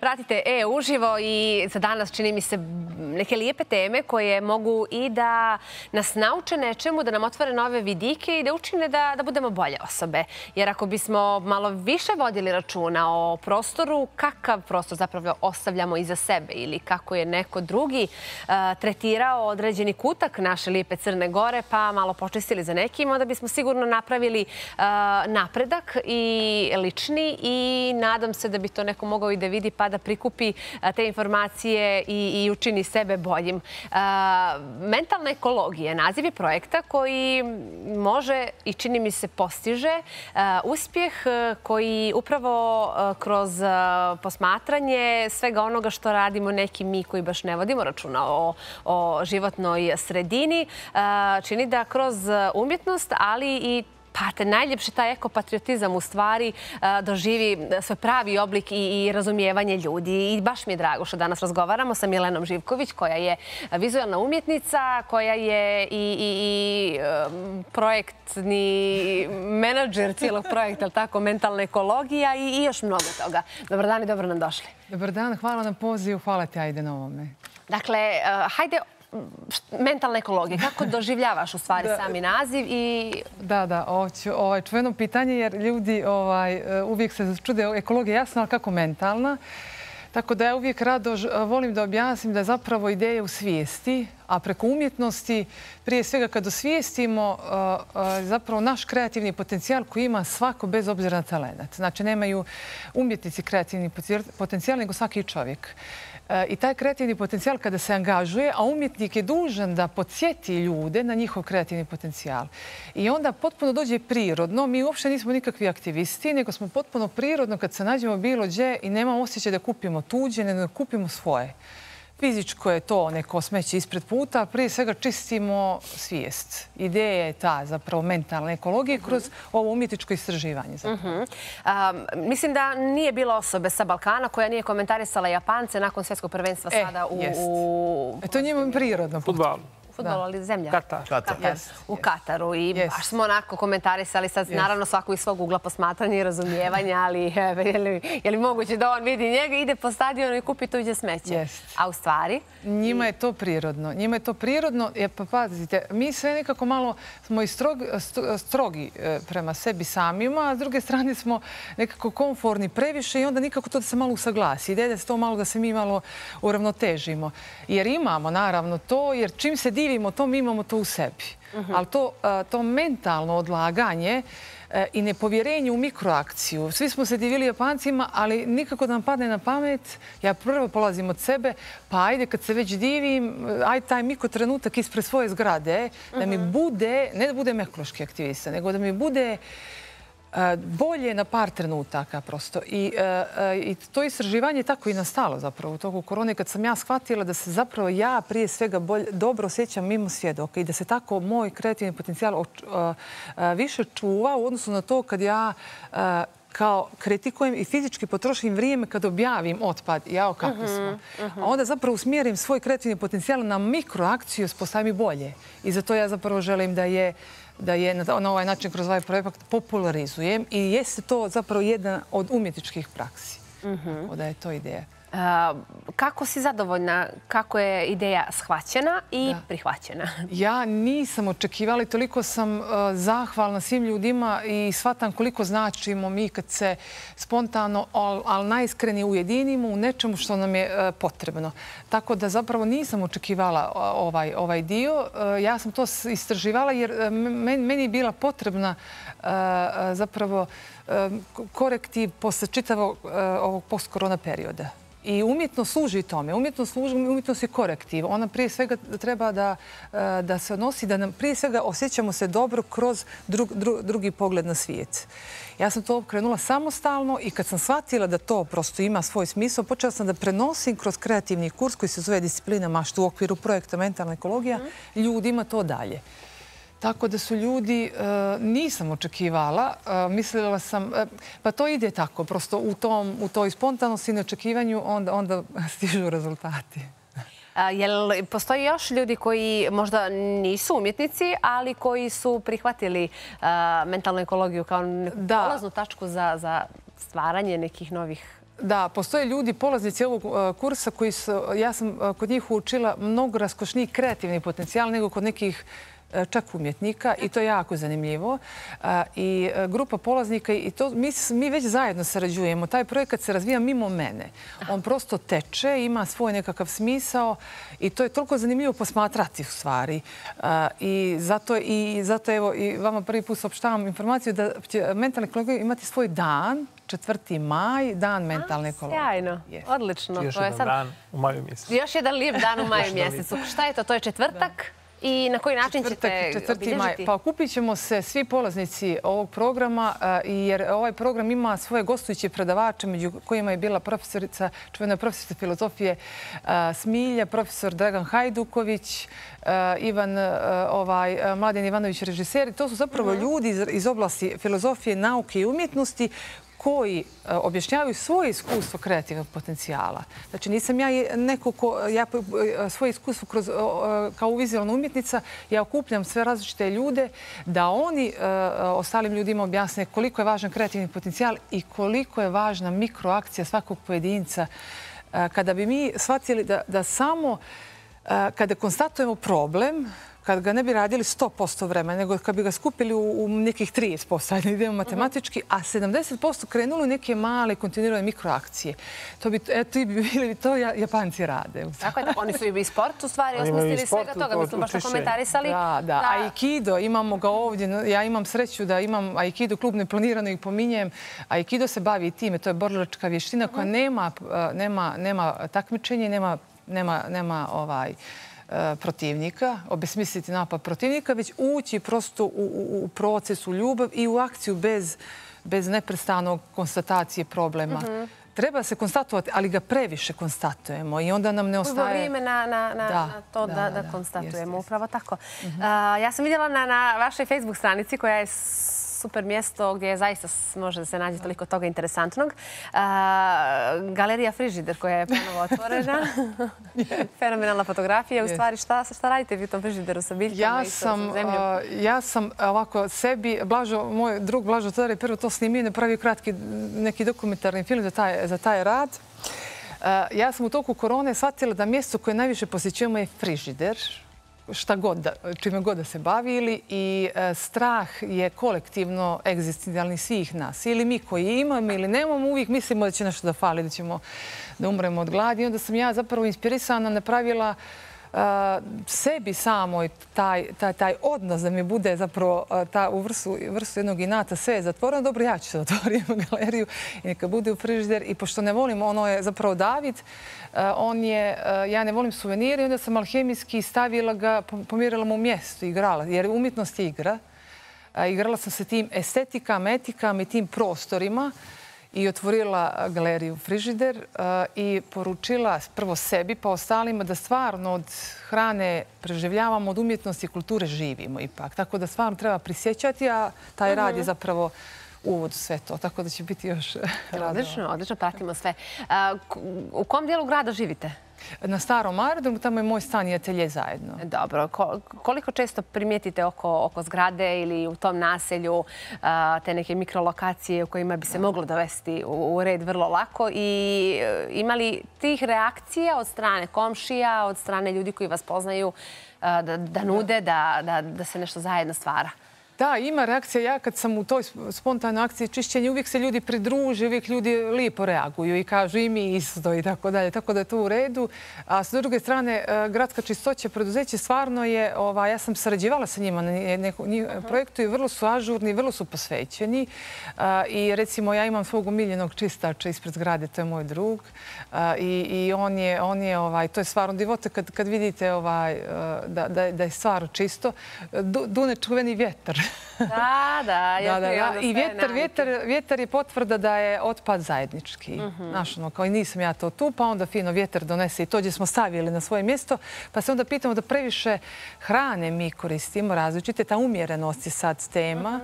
pratite uživo i za danas čini mi se neke lijepe teme koje mogu i da nas nauče nečemu, da nam otvore nove vidike i da učine da budemo bolje osobe. Jer ako bismo malo više vodili računa o prostoru, kakav prostor zapravo ostavljamo iza sebe ili kako je neko drugi tretirao određeni kutak naše lijepe Crne Gore, pa malo počistili za nekim, onda bismo sigurno napravili napredak i lični i nadam se da bi to neko mogao i da vidi pa da prikupi te informacije i učini sebe boljim. Mentalna ekologija, naziv je projekta koji može i čini mi se postiže uspjeh koji upravo kroz posmatranje svega onoga što radimo neki mi koji baš ne vodimo računa o životnoj sredini, čini da kroz umjetnost, ali i najljepši taj ekopatriotizam u stvari doživi svoj pravi oblik i razumijevanje ljudi. I baš mi je drago što danas razgovaramo sa Milenom Živković, koja je vizualna umjetnica, koja je i projektni menadžer cijelog projekta, ali tako, mentalna ekologija i još mnogo toga. Dobar dan i dobro nam došli. Dobar dan, hvala na pozivu, hvala ti Ajde na ovome. Dakle, hajde mentalna ekologija. Kako doživljavaš u stvari sami naziv? Da, ovo je čuveno pitanje jer ljudi uvijek se čude ekologija jasna, ali kako mentalna. Tako da ja uvijek rado volim da objasnim da je zapravo ideja u svijesti, a preko umjetnosti, prije svega kad osvijestimo zapravo naš kreativni potencijal koji ima svako bez obzira na talent. Znači nemaju umjetnici kreativni potencijal, nego svaki čovjek. I taj kreativni potencijal kada se angažuje, a umjetnik je dužan da podsjeti ljude na njihov kreativni potencijal. I onda potpuno dođe prirodno. Mi uopšte nismo nikakvi aktivisti, nego smo potpuno prirodno kad se nađemo bilo gdje i nemamo osjećaj da kupimo tuđe, nego da kupimo svoje. Fizičko je to neko smeće ispred puta, prije svega čistimo svijest. Ideja je ta zapravo mentalne ekologije kroz ovo umjetničko istraživanje. Mislim da nije bilo osobe sa Balkana koja nije komentarisala Japance nakon svjetskog prvenstva sada u... To je njima prirodno. Fudbalu. Futbol, ali zemlja. Katar. U Kataru. I baš smo onako komentarisali sad, naravno svako iz svog ugla posmatranja i razumijevanja, ali je li moguće da on vidi njega, ide po stadionu i kupi tuđe smeće? A u stvari? Njima je to prirodno. Njima je to prirodno. Pa pazite, mi sve nekako malo smo i strogi prema sebi samima, a s druge strane smo nekako komforni previše i onda nikako to da se malo usaglasi. Ideja da se to malo, da se mi malo uravnotežimo. Jer imamo naravno to, jer čim se divimo to, mi imamo to u sebi. Ali to mentalno odlaganje i nepovjerenje u mikroakciju. Svi smo se divili Japancima, ali nikako da nam padne na pamet. Ja prvo polazim od sebe, pa ajde kad se već divim, ajde taj mikrotrenutak ispred svoje zgrade, da mi bude, ne da budem ekološki aktivista, nego da mi bude bolje na par trenutaka prosto. I to istraživanje je tako i nastalo zapravo u toku korone kad sam ja shvatila da se zapravo ja prije svega dobro osjećam mimo svjedoka i da se tako moj kreativni potencijal više čuva u odnosu na to kad ja kao kritikujem i fizički potrošim vrijeme kad objavim otpad. Jao, kakvi smo. A onda zapravo usmjerim svoj kreativni potencijal na mikroakciju, postavim i bolje. I zato ja zapravo želim da je na ovaj način kroz ovaj projekt popularizujem i jeste to zapravo jedna od umjetničkih praksi. Da je to ideja. Kako si zadovoljna kako je ideja shvaćena i prihvaćena? Ja nisam očekivala i toliko sam zahvalna svim ljudima i shvatam koliko značimo mi kad se spontano, ali najiskrenije ujedinimo u nečemu što nam je potrebno. Tako da zapravo nisam očekivala ovaj dio. Ja sam to istraživala jer meni je bila potrebna zapravo korektiv posle čitavog ovog post-korona perioda. I umjetnost služi tome. Umjetnost je korektiv. Ona prije svega treba da se odnosi, da nam prije svega osjećamo se dobro kroz drugi pogled na svijet. Ja sam to krenula samostalno i kad sam shvatila da to prosto ima svoj smisao, počela sam da prenosim kroz kreativni kurs koji se zove Disciplina mašta u okviru projekta Mentalna ekologija ljudima to dalje. Tako da su ljudi, nisam očekivala, mislila sam, pa to ide tako, prosto u toj spontanosti i neočekivanju onda stižu rezultati. Jel postoji još ljudi koji možda nisu umjetnici, ali koji su prihvatili mentalnu ekologiju kao polaznu tačku za stvaranje nekih novih Da, postoje ljudi, polaznici ovog kursa koji su, ja sam kod njih učila mnogo raskošniji kreativni potencijal nego kod nekih čak umjetnika i to je jako zanimljivo. I grupa polaznika, i to mi već zajedno sarađujemo. Taj projekat se razvija mimo mene. On prosto teče, ima svoj nekakav smisao i to je toliko zanimljivo posmatrati u stvari. I zato evo i vama prvi put saopštavam informaciju da će mentalne ekologije imati svoj dan, 4. maj, dan mentalne ekologije. Sjajno, odlično. Još jedan dan u maju mjesecu. Još jedan lijep dan u maju mjesecu. Šta je to? To je četvrtak? I na koji način ćete obilježiti? Pa okupit ćemo se svi polaznici ovog programa jer ovaj program ima svoje gostujuće predavače među kojima je bila čuvena profesorica filozofije Smilja, profesor Dragan Hajduković, Mladen Ivanović režiser. To su zapravo ljudi iz oblasti filozofije, nauke i umjetnosti koji objašnjavaju svoje iskustvo kreativnog potencijala. Znači, nisam ja neko svoje iskustvo kao vizualna umjetnica, ja okupljam sve različite ljude da oni ostalim ljudima objasne koliko je važan kreativni potencijal i koliko je važna mikroakcija svakog pojedinca. Kada bi mi shvatili da samo kada konstatujemo problem, kad ga ne bi radili 100% vremena, nego kad bi ga skupili u nekih 30%, ajde idemo matematički, a 70% krenulo u neke male kontinuirane mikroakcije. To Japanci rade. Tako je, oni su i sport u stvari osmislili svega toga. Mi smo baš to komentarisali. Da. Aikido, imamo ga ovdje. Ja imam sreću da imam Aikido klub, neplanirano ih pominjem. Aikido se bavi i time. To je borilačka vještina koja nema takmičenje, nema protivnika, obesmisliti napad protivnika, već ući prosto u proces, u ljubav i u akciju bez neprestanog konstatacije problema. Treba se konstatovati, ali ga previše konstatujemo i onda nam ne ostaje... Uvo vrijeme na to da konstatujemo, upravo tako. Ja sam vidjela na vašoj Facebook stranici koja je super mjesto gdje zaista može da se nađe toliko toga interesantnog. Galerija Frižider koja je ponovo otvorena. Fenomenalna fotografija. U stvari, šta radite vi u tom frižideru sa biljkama i sa zemljom? Ja sam ovako sebi, moj drug Blažo Todor je prvo to snimio i napravio kratki neki dokumentarni film za taj rad. Ja sam u toku korone shvatila da mjesto koje najviše posjećujemo je frižider. Čime god da se bavili i strah je kolektivno egzistencijalni svih nas. Ili mi koji imamo ili nemamo, uvijek mislimo da će nešto da fali, da umremo od gladi. I onda sam ja zapravo inspirisana napravila sebi samoj taj odnos da mi bude zapravo u vrstu jednog inata sve je zatvoreno. Dobro, ja ću se otvoriti galeriju i neka bude u frižider. I pošto ne volim, ono je zapravo David, ja ne volim suvenire i onda sam alhemijski stavila ga, pomirala mu mjesto, igrala, jer umjetnost je igra. Igrala sam se tim estetikama, etikama i tim prostorima i otvorila galeriju Frižider i poručila prvo sebi pa ostalima da stvarno od hrane preživljavamo, od umjetnosti i kulture živimo ipak. Tako da stvarno treba prisjećati, a taj rad je zapravo uvod u sve to. Tako da će biti još radova. Odlično, pratimo sve. U kom dijelu grada živite? Na Starom aerodromu, tamo je moj stan i atelje zajedno. Dobro. Koliko često primijetite oko zgrade ili u tom naselju te neke mikrolokacije u kojima bi se moglo dovesti u red vrlo lako? I ima li tih reakcija od strane komšija, od strane ljudi koji vas poznaju da nude, da se nešto zajedno stvara? Da, ima reakcija. Ja kad sam u toj spontanoj akciji čišćenja, uvijek se ljudi pridruže, uvijek ljudi lijepo reaguju i kažu i mi isto i tako dalje. Tako da je to u redu. A s druge strane, Gradska čistoća preduzeće stvarno je, ja sam sarađivala sa njima na projektu i vrlo su ažurni, vrlo su posvećeni. I recimo, ja imam svog omiljenog čistača ispred zgrade, to je moj drug. I to je stvarno divote kad vidite da je stvarno čisto. Dune čuveni vjetar. Da. I vjetar je potvrda da je otpad zajednički. Kao i nisam ja to tu, pa onda fino vjetar donese i to gdje smo stavili na svoje mjesto. Pa se onda pitamo da previše hrane mi koristimo različite. Ta umjerenost je sad tema.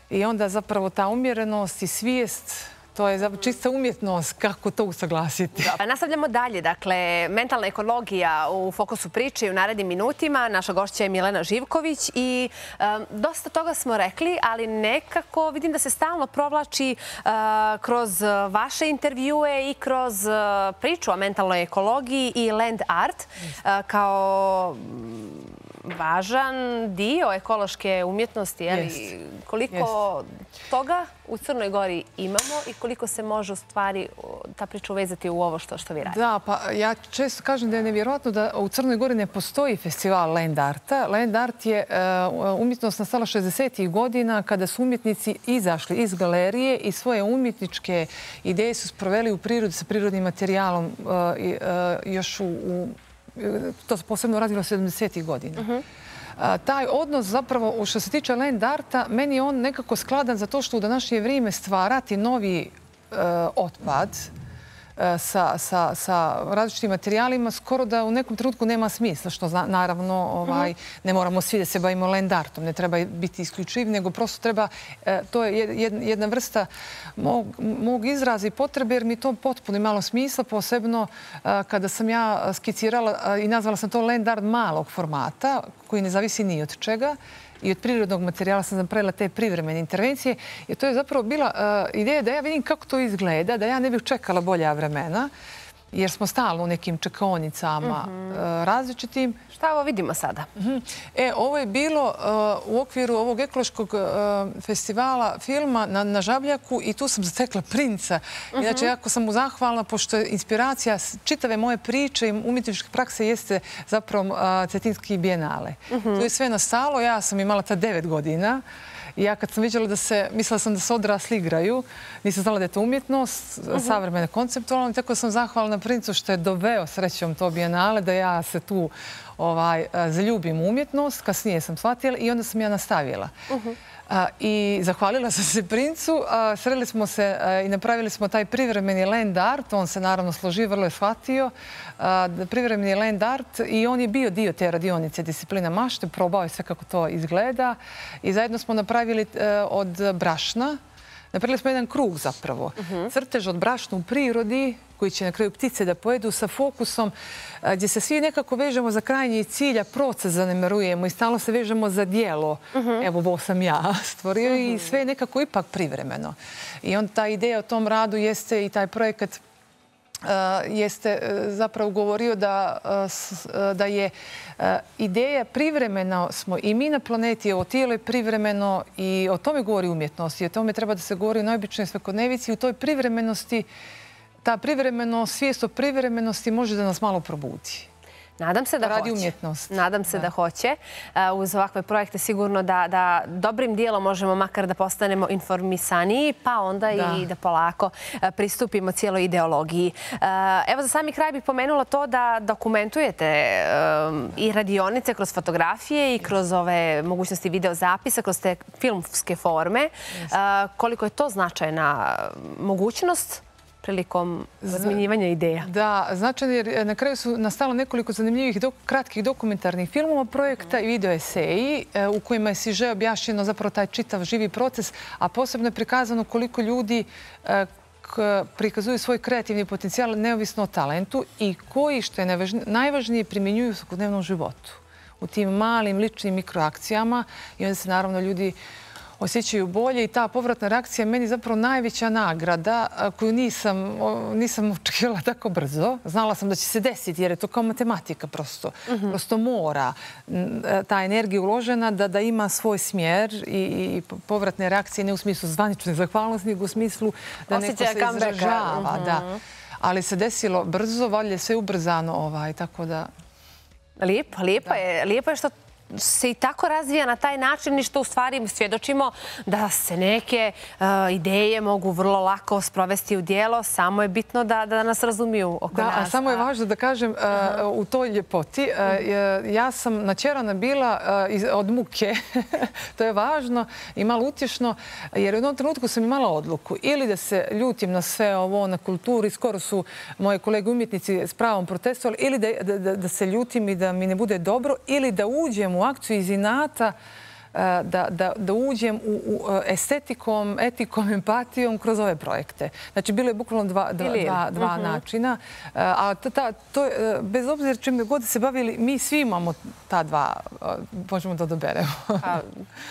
I onda zapravo ta umjerenost i svijest To je čista umjetnost kako to usaglasiti. Nastavljamo dalje. Dakle, mentalna ekologija u fokusu priče i u narednim minutima. Naša gošća je Milena Živković i dosta toga smo rekli, ali nekako vidim da se stalno provlači kroz vaše intervjue i kroz priču o mentalnoj ekologiji i land art kao važan dio ekološke umjetnosti. Koliko toga u Crnoj Gori imamo i koliko se može u stvari ta priča uvezati u ovo što vi radite? Da, pa ja često kažem da je nevjerojatno da u Crnoj Gori ne postoji festival land arta. Land art je umjetnost nastala 60-ih godina kada su umjetnici izašli iz galerije i svoje umjetničke ideje su sproveli u prirodu sa prirodnim materijalom još to se posebno radilo 70-ih godina. Taj odnos zapravo, što se tiče land arta, meni je on nekako skladan zato što u današnje vrijeme stvarati novi otpad sa različitim materijalima skoro da u nekom trenutku nema smisla, što naravno ne moramo svi da se bavimo land artom, ne treba biti isključiv, nego prosto treba, to je jedna vrsta mog izraza i potrebe jer mi to potpuno imalo smisla, posebno kada sam ja skicirala i nazvala sam to land art malog formata koji ne zavisi ni od čega. I od prirodnog materijala sam napravila te privremene intervencije. I to je zapravo bila ideja da ja vidim kako to izgleda, da ja ne bih čekala bolja vremena, jer smo stalno u nekim čekaonicama različitim. Šta ovo vidimo sada? Ovo je bilo u okviru ovog ekološkog festivala filma na Žabljaku i tu sam zatekla princa. Inače, jako sam mu zahvalna, pošto je inspiracija čitave moje priče i umjetničke prakse jeste zapravo Cetinski bijenale. Tu je sve nastalo. Ja sam imala ta 9 godina. I ja kad sam vidjela mislila sam da se odrasli igraju, nisam znala da je to umjetnost, savremena konceptualna, tako sam zahvalna princu što je doveo srećom to bijenale, da ja se tu zaljubim u umjetnost. Kasnije sam shvatila i onda sam ja nastavila. I zahvalila sam se princu, sreli smo se i napravili smo taj privremeni land art, on se naravno složio, vrlo je shvatio, privremeni land art i on je bio dio te radionice disciplina mašte, probao je sve kako to izgleda i zajedno smo napravili od brašna, napravili smo jedan krug zapravo, crtež od brašna u prirodi, koji će na kraju ptice da pojedu sa fokusom gdje se svi nekako vežemo za krajnji cilj, a proces zanemarujemo i stalno se vežemo za dijelo. Evo, ovo sam ja stvorio i sve je nekako ipak privremeno. I onda ta ideja o tom radu jeste i taj projekat jeste zapravo govorio da je ideja privremeno smo i mi na planeti, ovo tijelo je privremeno i o tome govori umjetnost i o tome treba da se govori u najobičnoj svakodnevici i u toj privremenosti ta privremenost, svijest o privremenosti može da nas malo probudi. Nadam se da hoće. Radi umjetnost. Nadam se da hoće. Uz ovakve projekte sigurno da dobrim dijelom možemo makar da postanemo informisaniji, pa onda i da polako pristupimo cijeloj ideologiji. Evo, za sami kraj bih pomenula to da dokumentujete i radionice kroz fotografije i kroz ove mogućnosti videozapisa, kroz te filmske forme. Koliko je to značajna mogućnost prilikom razmjenjivanja ideja? Da, značajno jer na kraju su nastalo nekoliko zanimljivih kratkih dokumentarnih filmova projekta i video eseji u kojima je siže objašnjeno zapravo taj čitav živi proces, a posebno je prikazano koliko ljudi prikazuju svoj kreativni potencijal neovisno o talentu i koji, što je najvažnije, primjenjuju u svakodnevnom životu. U tim malim, ličnim mikroakcijama i onda se naravno ljudi osjećaju bolje i ta povratna reakcija je meni zapravo najveća nagrada koju nisam očekivala tako brzo. Znala sam da će se desiti jer je to kao matematika prosto. Prosto mora ta energija uložena da ima svoj smjer i povratne reakcije ne u smislu zvanične zahvalnosti, nego u smislu da neko se izražava. Ali se desilo brzo, valjda sve ubrzano, tako da... Lijepo je što se i tako razvija na taj način i što u stvari svjedočimo da se neke ideje mogu vrlo lako sprovesti u dijelo. Samo je bitno da nas razumiju oko nas. A samo je važno da kažem u toj ljepoti. Ja sam načerana bila od muke. To je važno i malo utješno jer u jednom trenutku sam imala odluku ili da se ljutim na sve ovo, na kulturi. Skoro su moje kolege umjetnici s pravom protestovali ili da se ljutim i da mi ne bude dobro ili da uđem u akciju iz inata da uđem u estetikom, etikom, empatijom kroz ove projekte. Znači, bilo je bukvalno dva načina. A bez obzira čime god se bavili, mi svi imamo ta dva, možemo da odaberemo.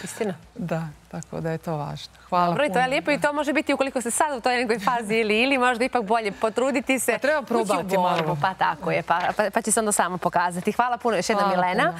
Istina. Da, tako da je to važno. Hvala puno. Dobro, i to je lijepo i to može biti ukoliko ste sad u toj nekoj fazi ili možda ipak bolje potruditi se. Treba probati malo. Pa tako je, pa će se onda samo pokazati. Hvala puno još jednom, Milena.